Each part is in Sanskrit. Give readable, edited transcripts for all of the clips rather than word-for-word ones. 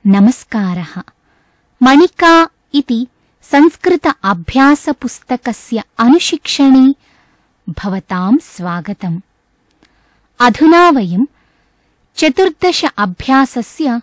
नमस्कारः। मणिका इति संस्कृत अभ्यासपुस्तकस्य अनुशिक्षणे भवतां स्वागतम्। अधुना वयं 14 अभ्यासस्य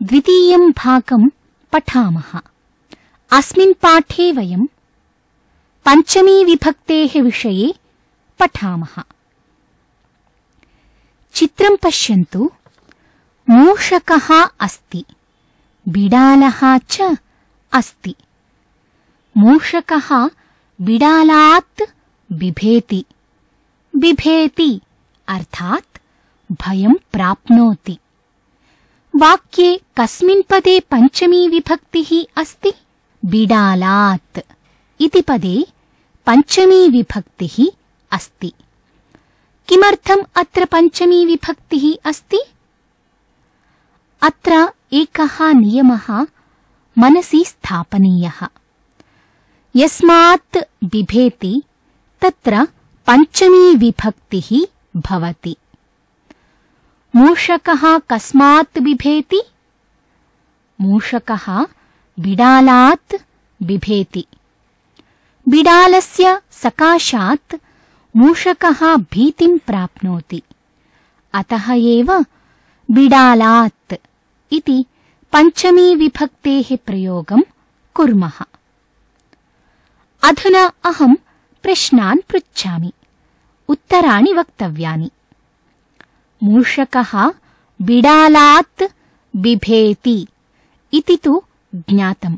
द्वितीयं भागं पठामः। अस्मिन् पाठे वयं पञ्चमी विभक्तेः विषये पठामः। चित्रं पश्यन्तु। मूषकः अस्ति, बिडालः च अस्ति। मूषकः बिडालात् बिभेति। बिभेति अर्थात् भयं प्राप्नोति। वाक्ये कस्मिन् पदे पञ्चमी विभक्तिः अस्ति? बिडालात् इति पदे पञ्चमी विभक्तिः अस्ति। किमर्थम् अत्र पञ्चमी विभक्तिः अस्ति? अत्र एकः नियमः मनसि स्थापनीयः। यस्मात् बिभेति तत्र पञ्चमी विभक्तिः भवति। मूषकः कस्मात् बिभेति? मूषकः बिडालात् बिभेति। बिडालस्य सकाशात् मूषकः भीतिं प्राप्नोति। अतः एव बिडालात् इति पञ्चमी विभक्तेः प्रयोगं कुर्मः। अधुना अहं प्रश्नान् पृच्छामि, उत्तराणि वक्तव्यानि। मूषकः बिडालात् बिभेति इति तु ज्ञातम्,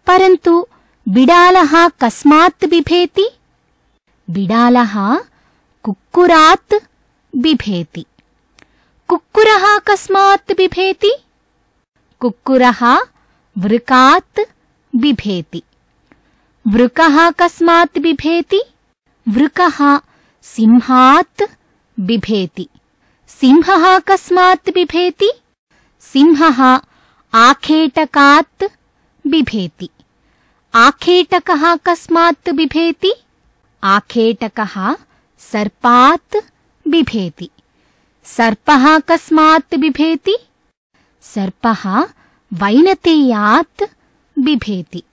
परन्तु बिडालः कस्मात् बिभेति? बिडालः कुक्कुरात् बिभेति। कुक्कुरः कस्मात् बिभेति? कुक्कुरः वृकात् बिभेति। वृकः कस्मात् बिभेति? वृकः सिंहात् बिभेति। सिंहः कस्मात् बिभेति? सिंहः आखेटकात् बिभेति। आखेटकः कस्मात् बिभेति? आखेटकः सर्पात् बिभेति। सर्पः कस्मात् बिभेति? सर्पः वैनतेयात् बिभेति।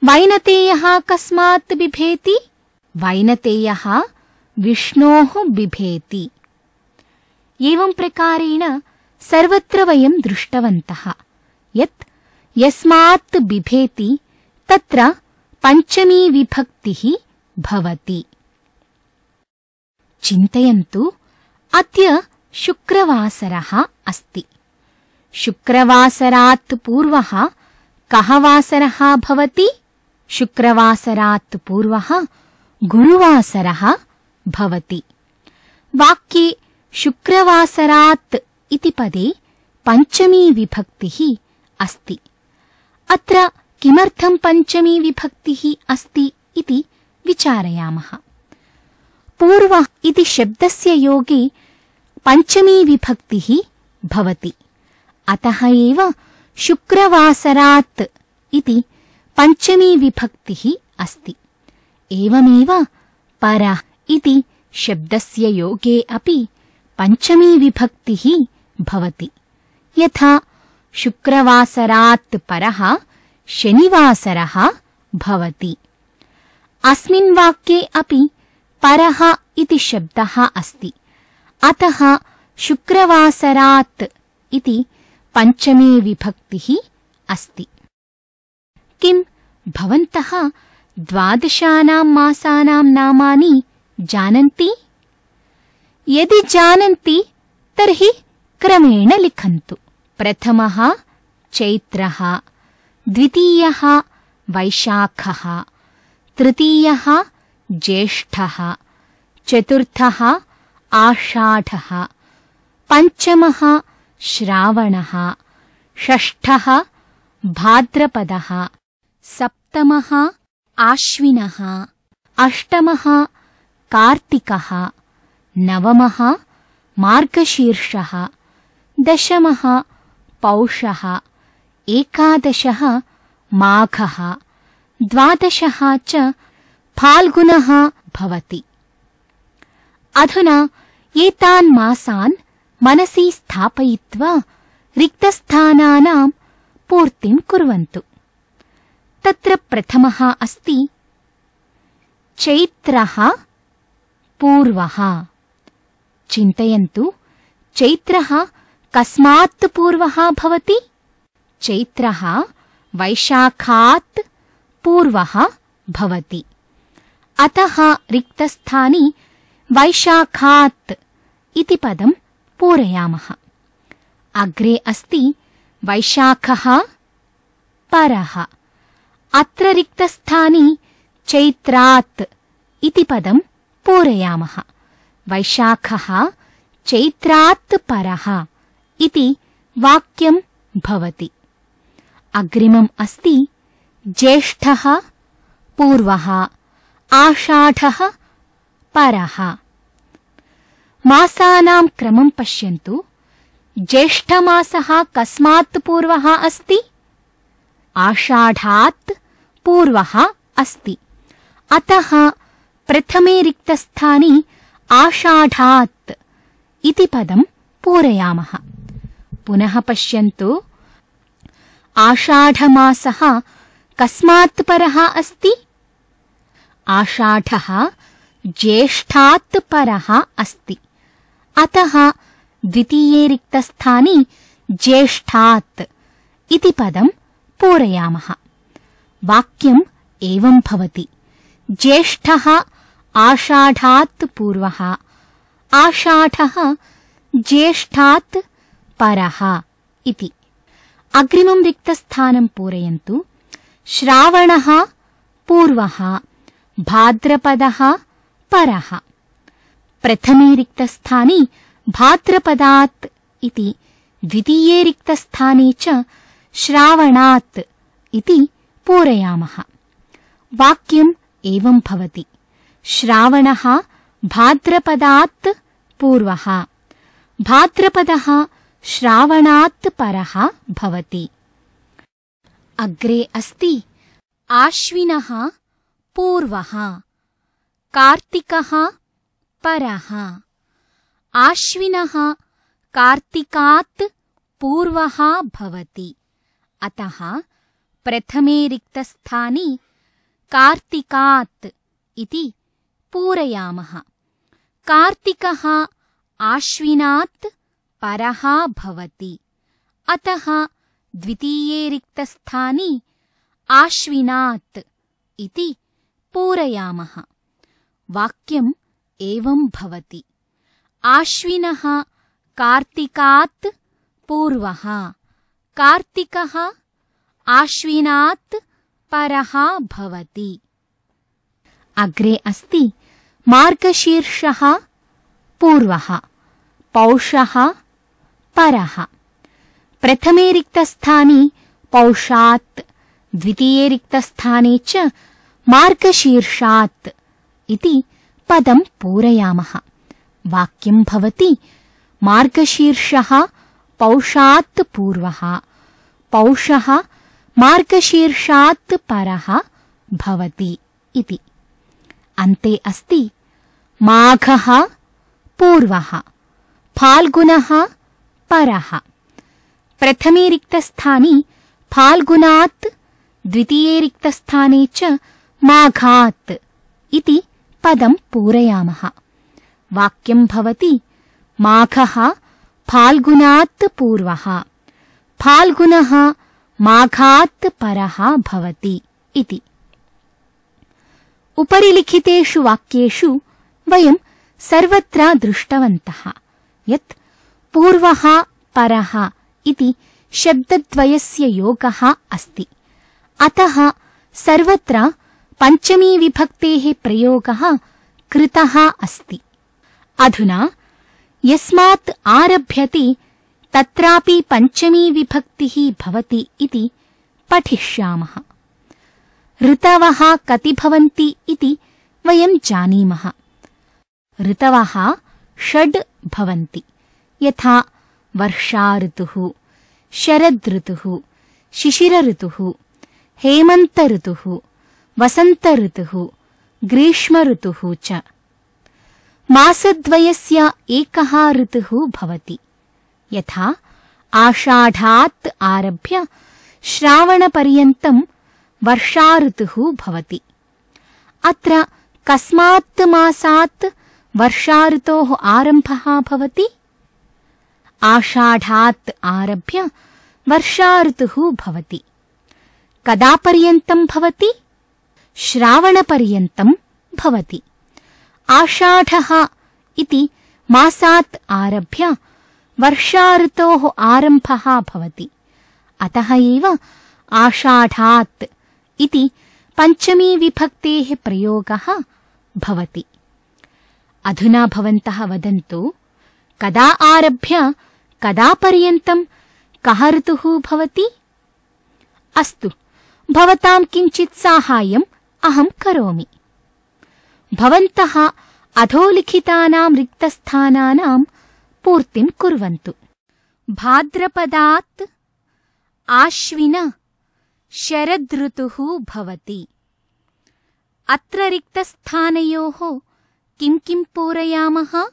वैनतेयः कस्मात् बिभेति? वैनतेयः विष्णोः बिभेति। एवं प्रकारेण सर्वत्र वयं दृष्टवन्तः यत् यस्मात् बिभेति तत्र पञ्चमी विभक्तिः भवति। चिन्तयन्तु, अद्य शुक्रवासरः अस्ति। शुक्रवासरात् पूर्वः कः वासरः भवति? शुक्रवासरात् पूर्वः गुरुवासरः भवति। वाक्ये शुक्रवासरात् इति पदे पञ्चमी विभक्तिः अस्ति। अत्र किमर्थं पञ्चमी विभक्तिः अस्ति इति विचारयामः। पूर्वः इति शब्दस्य योगे पञ्चमी विभक्तिः भवति। अतः एव शुक्रवासरात् इति पञ्चमी विभक्तिः अस्ति। एवमेव परः इति शब्दस्य योगे अपि पञ्चमी विभक्तिः भवति। यथा शुक्रवासरात् परः शनिवासरः भवति। अस्मिन् वाक्ये अपि परः इति शब्दः अस्ति। अतः शुक्रवासरात् इति पञ्चमी विभक्तिः अस्ति। किं भवन्तः 12 मासानां नामानि जानन्ति? यदि जानन्ति तर्हि क्रमेण लिखन्तु। प्रथमः चैत्रः, द्वितीयः वैशाखः, तृतीयः ज्येष्ठः, चतुर्थः आषाढः, पञ्चमः श्रावणः, षष्ठः भाद्रपदः, सप्तमः आश्विनः, अष्टमः कार्तिकः, नवमः मार्गशीर्षः, दशमः पौषः, एकादशः माघः, द्वादशः च फाल्गुनः भवति। अधुना एतान् मासान् मनसि स्थापयित्वा रिक्तस्थानानां पूर्तिं कुर्वन्तु। तत्र प्रथमः अस्ति चैत्रः पूर्वः। चिन्तयन्तु, चैत्रः कस्मात् पूर्वः भवति? चैत्रः वैशाखात् पूर्वः भवति। अतः रिक्तस्थाने वैशाखात् इति पदं पूरयामः। अग्रे अस्ति वैशाखः परः। अत्र रिक्तस्थाने चैत्रात् इति पदं पूरयामः। वैशाखः चैत्रात् परः इति वाक्यं भवति। अग्रिमम् अस्ति ज्येष्ठः पूर्वः, आषाढः परः। मासानां क्रमं पश्यन्तु। ज्येष्ठमासः कस्मात् पूर्वः अस्ति? आषाढात् पूर्वः अस्ति। अतः प्रथमे रिक्तस्थाने आषाढात् इति पदं पूरयामः। पुनः पश्यन्तु, आषाढमासः कस्मात् परः अस्ति? आषाढः ज्येष्ठात् परः अस्ति। अतः द्वितीये रिक्तस्थाने ज्येष्ठात् इति पदं पूरयामः। वाक्यम् एवं भवति। ज्येष्ठः आषाढात् पूर्वः, आषाढः ज्येष्ठात् परः इति। अग्रिमं रिक्तस्थानं पूरयन्तु। श्रावणः पूर्वः, भाद्रपदः परः। प्रथमे रिक्तस्थाने भाद्रपदात् इति, द्वितीये रिक्तस्थाने च श्रावणात् इति पूरयामः। वाक्यम् एवं भवति। श्रावणः भाद्रपदात् पूर्वः, भाद्रपदः श्रावणात् परः भवति। अग्रे अस्ति आश्विनः पूर्वः, कार्तिकः परः। आश्विनः कार्तिकात् पूर्वः भवति। अतः प्रथमे रिक्तस्थाने कार्तिकात् इति पूरयामः। कार्तिकः आश्विनात् परः भवति। अतः द्वितीये रिक्तस्थाने आश्विनात् इति पूरयामः। वाक्यम् एवं भवति। आश्विनः कार्तिकात् पूर्वः, कार्तिकः आश्विनात् परः भवति। अग्रे अस्ति मार्गशीर्षः पूर्वः, पौषः परः। प्रथमे रिक्तस्थाने पौषात्, द्वितीये रिक्तस्थाने च मार्गशीर्षात् इति पदं पूरयामः। वाक्यं भवति मार्गशीर्षः पौषात् पूर्वः, पौषः मार्गशीर्षात् परः भवति इति। अन्ते अस्ति माघः पूर्वः, फाल्गुनः परः। प्रथमे रिक्तस्थाने फाल्गुनात्, द्वितीये रिक्तस्थाने च माघात् इति पदं पूरयामः। वाक्यं भवति माघः फाल्गुनात् पूर्वः, फाल्गुनः माघात् परः भवति इति। उपरि लिखितेषु वाक्येषु वयं सर्वत्र दृष्टवन्तः यत् पूर्वः परः इति शब्दद्वयस्य योगः अस्ति। अतः सर्वत्र पञ्चमी विभक्तेः प्रयोगः कृतः अस्ति। अधुना यस्मात् आरभ्यते तत्रापि पञ्चमी विभक्तिः भवति इति पठिष्यामः। ऋतवः कति भवन्ति इति वयं जानीमः। ऋतवः 6 भवन्ति, यथा वर्षा ऋतुः, शरद ऋतुः, शिशिर ऋतुः, हेमन्त ऋतुः, वसन्त ऋतुः, ग्रीष्म ऋतुः च। मासद्वयस्य एकः ऋतुः भवति, यथा आषाढात् आरभ्य श्रावणपर्यन्तं वर्षा ऋतुः भवति। अत्र कस्मात् मासात् वर्षा ऋतोः आरम्भः भवति? आषाढात् आरभ्य वर्षा ऋतुः भवति। कदा पर्यन्तं भवति? श्रावणपर्यन्तं भवति। आषाढः इति मासात् आरभ्य वर्षा ऋतोः आरम्भः भवति। अतः एव आषाढात् इति पञ्चमी विभक्तेः प्रयोगः भवति। अधुना भवन्तः वदन्तु, कदा आरभ्य कदा पर्यन्तं कः ऋतुः भवति? अस्तु, भवतां किञ्चित् साहाय्यम् अहं करोमि। भवन्तः अधोलिखितानां रिक्तस्थानानां पूर्तिं कुर्वन्तु। भाद्रपदात् आश्विन शरदृतुः भवति। अत्र रिक्तस्थानयोः किं किं पूरयामः?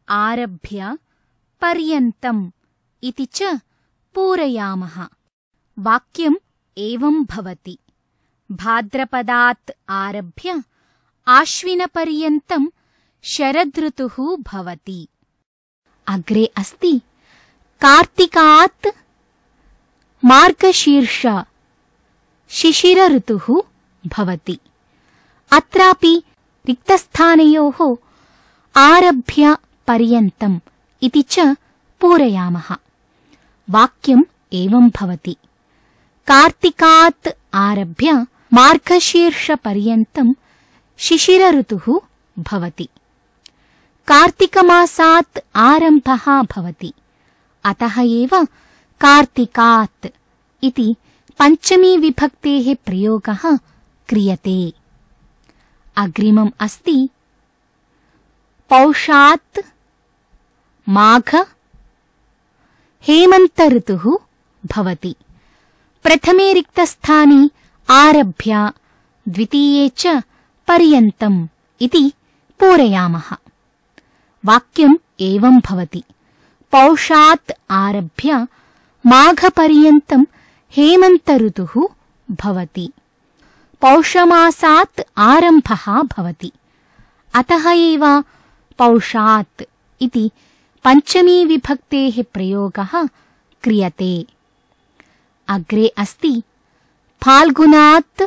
आरभ्य पर्यन्तम् इति च पूरयामः। वाक्यम् एवं भवति। भाद्रपदात् आरभ्य आश्विनपर्यन्तं शरदृतुः भवति। अग्रे अस्ति कार्तिकात् मार्गशीर्ष शिशिरऋतुः भवति। अत्रापि रिक्तस्थानयोः आरभ्य पर्यन्तम् इति च पूरयामः। वाक्यम् एवं भवति। कार्तिकात् आरभ्य मार्गशीर्षपर्यन्तं शिशिरऋतुः भवति। कार्तिकमासात् आरम्भः भवति। अतः एव कार्तिकात् इति पञ्चमी विभक्तेः प्रयोगः क्रियते। अग्रिमम् अस्ति पौषात् माघ हेमन्तऋतुः भवति। प्रथमे रिक्तस्थाने आरभ्य द्वितीये च पर्यन्तम् इति पूरयामः। वाक्यम् एवं भवति। पौषात् आरभ्य माघपर्यन्तं हेमन्तऋतुः भवति। पौषमासात् आरम्भः भवति। अतः एव पौषात् इति पञ्चमी विभक्तेः प्रयोगः क्रियते। अग्रे अस्ति फाल्गुनात्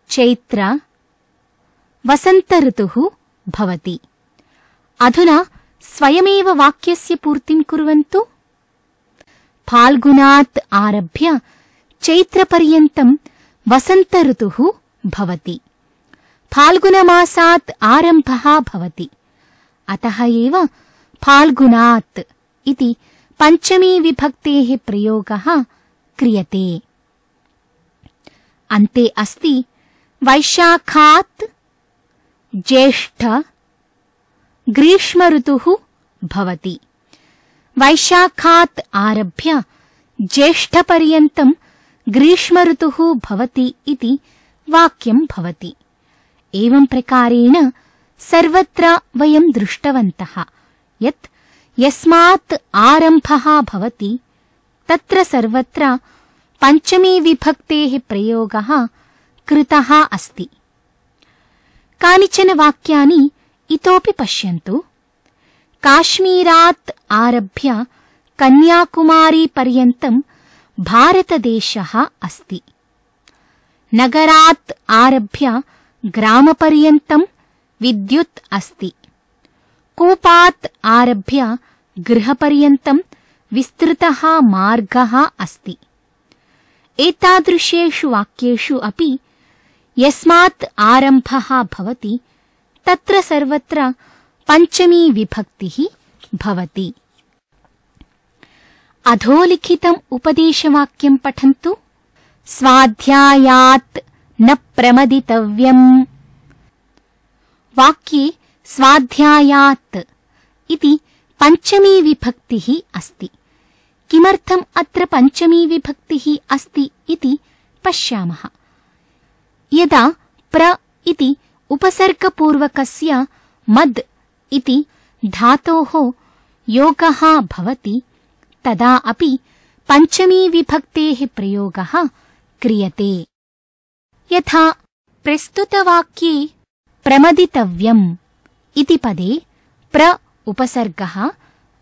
चैत्र वसन्तऋतुः भवति। अधुना स्वयमेव वाक्यस्य पूर्तिं कुर्वन्तु। फाल्गुनात् आरभ्य चैत्रपर्यन्तं वसन्तऋतुः भवति। फाल्गुनमासात् आरम्भः भवति। अतः एव फाल्गुनात् इति पञ्चमी विभक्तेः प्रयोगः क्रियते। अन्ते अस्ति वैशाखात् ज्येष्ठ ग्रीष्मऋतुः भवति। वैशाखात् आरभ्य ज्येष्ठपर्यन्तं ग्रीष्मऋतुः भवति इति वाक्यं भवति। एवं प्रकारेण सर्वत्र वयं दृष्टवन्तः यत् यस्मात् आरम्भः भवति तत्र सर्वत्र पञ्चमी विभक्तेः प्रयोगः कृतः अस्ति। कानिचन वाक्यानि इतोपि पश्यन्तु। काश्मीरात् आरभ्य कन्याकुमारीपर्यन्तं भारतदेशः अस्ति। नगरात् आरभ्य ग्रामपर्यन्तं विद्युत् अस्ति। कूपात् आरभ्य गृहपर्यन्तं विस्तृतः मार्गः अस्ति। एतादृशेषु वाक्येषु अपि यस्मात् आरम्भः भवति तत्र सर्वत्र पञ्चमी विभक्तिः भवति। अधोलिखितम् उपदेशवाक्यं पठन्तु। स्वाध्यायात् न प्रमदितव्यम्। वाक्ये स्वाध्यायात् इति पञ्चमी विभक्तिः अस्ति। किमर्थम् अत्र पञ्चमी विभक्तिः अस्ति इति पश्यामः। यदा प्र इति उपसर्गपूर्वकस्य मद् इति धातोः योगः भवति तदा अपि पञ्चमी विभक्तेः प्रयोगः क्रियते। यथा प्रस्तुतवाक्ये प्रमदितव्यम् इति पदे प्र उपसर्गः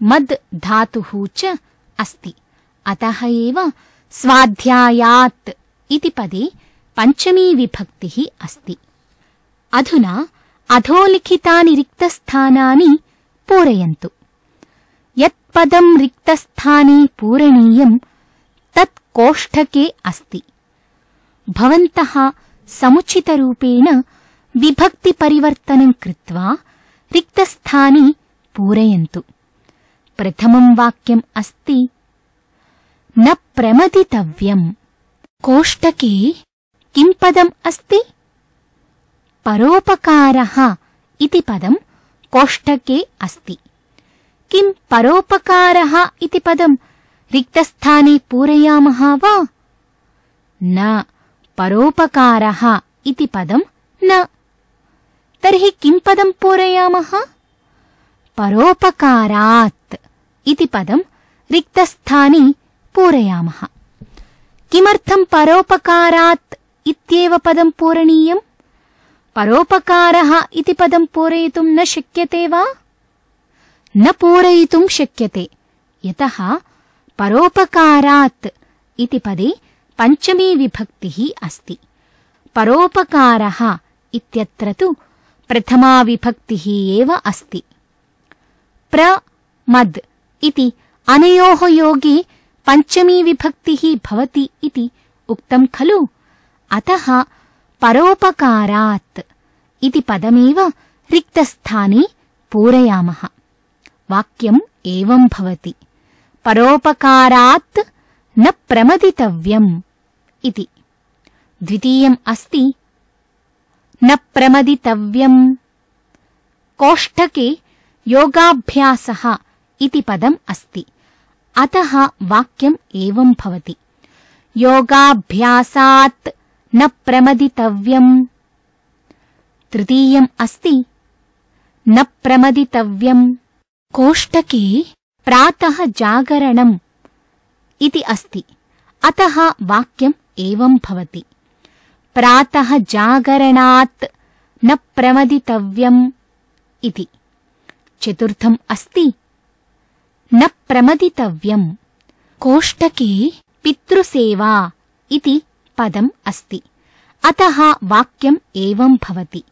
मद् धातुः च अस्ति, अतः एव स्वाध्यायात् इति पदे पञ्चमी विभक्तिः अस्ति। अधुना अधोलिखितानि रिक्तस्थानानि पूरयन्तु। यत्पदं रिक्तस्थाने पूरणीयं तत् कोष्ठके अस्ति। भवन्तः समुचितरूपेण विभक्तिपरिवर्तनं कृत्वा रिक्तस्थाने पूरयन्तु। प्रथमं वाक्यम् अस्ति न प्रमदितव्यम्। कोष्ठके किं पदम् अस्ति? परोपकारः इति पदं कोष्ठके अस्ति। किं परोपकारः इति पदं रिक्तस्थाने पूरयामः वा? न, परोपकारः इति पदं न। तर्हि किं पदं पूरयामः? परोपकारात् इति पदं रिक्तस्थाने पूरयामः। किमर्थं परोपकारात् इत्येव पदं पूरणीयम्? परोपकारः इति पदं पूरयितुं न शक्यते वा? न पूरयितुं शक्यते, यतः परोपकारात् इति पदे पञ्चमी विभक्तिः अस्ति। परोपकारः इत्यत्र तु प्रथमा विभक्तिः एव अस्ति। प्रमद् इति अनयोः योगे पञ्चमी विभक्तिः भवति इति उक्तं खलु, अतः परोपकारात् इति पदमेव रिक्तस्थाने पूरयामः। वाक्यम् एवं भवति, परोपकारात् न प्रमदितव्यम् इति। द्वितीयम् अस्ति न प्रमदितव्यम्। कोष्ठके योगाभ्यासः इति पदम् अस्ति, अतः वाक्यम् एवं भवति, योगाभ्यासात् न प्रमदितव्यम्। तृतीयम् अस्ति न प्रमदितव्यम्। कोष्ठके प्रातः जागरणम् इति अस्ति, अतः वाक्यम् एवं भवति, प्रातः जागरणात् न प्रमदितव्यम् इति। चतुर्थम् अस्ति न प्रमदितव्यम्। कोष्ठके पितृसेवा इति पदम् अस्ति, अतः वाक्यम् एवं भवति,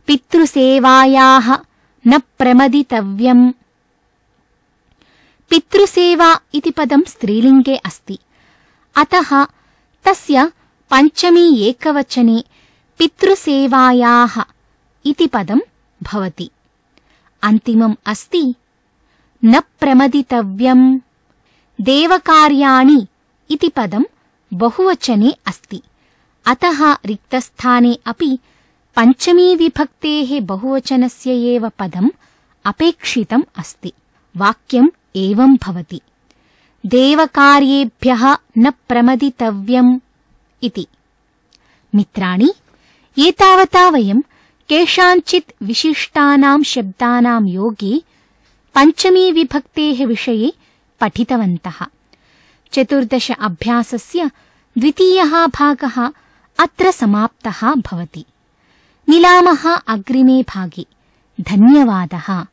पितृसेवायाः न प्रमदितव्यम्। पितृसेवा इति पदं स्त्रीलिङ्गे अस्ति, अतः तस्य पञ्चमी एकवचने पितृसेवायाः इति पदं भवति। अन्तिमम् अस्ति न प्रमदितव्यम्। देवकार्याणि इति पदं बहुवचने अस्ति, अतः रिक्तस्थाने अपि पञ्चमी विभक्तेः बहुवचनस्य एव पदम् अपेक्षितम् अस्ति। वाक्यम् एवं भवति, देवकार्येभ्यः न प्रमदितव्यम् इति। मित्राणि, एतावता वयं केषाञ्चित् विशिष्टानां शब्दानां योगे पञ्चमी विभक्तेः विषये पठितवन्तः। 14 अभ्यासस्य द्वितीयः भागः अत्र समाप्तः भवति। मिलामः अग्रिमे भागे। धन्यवादः।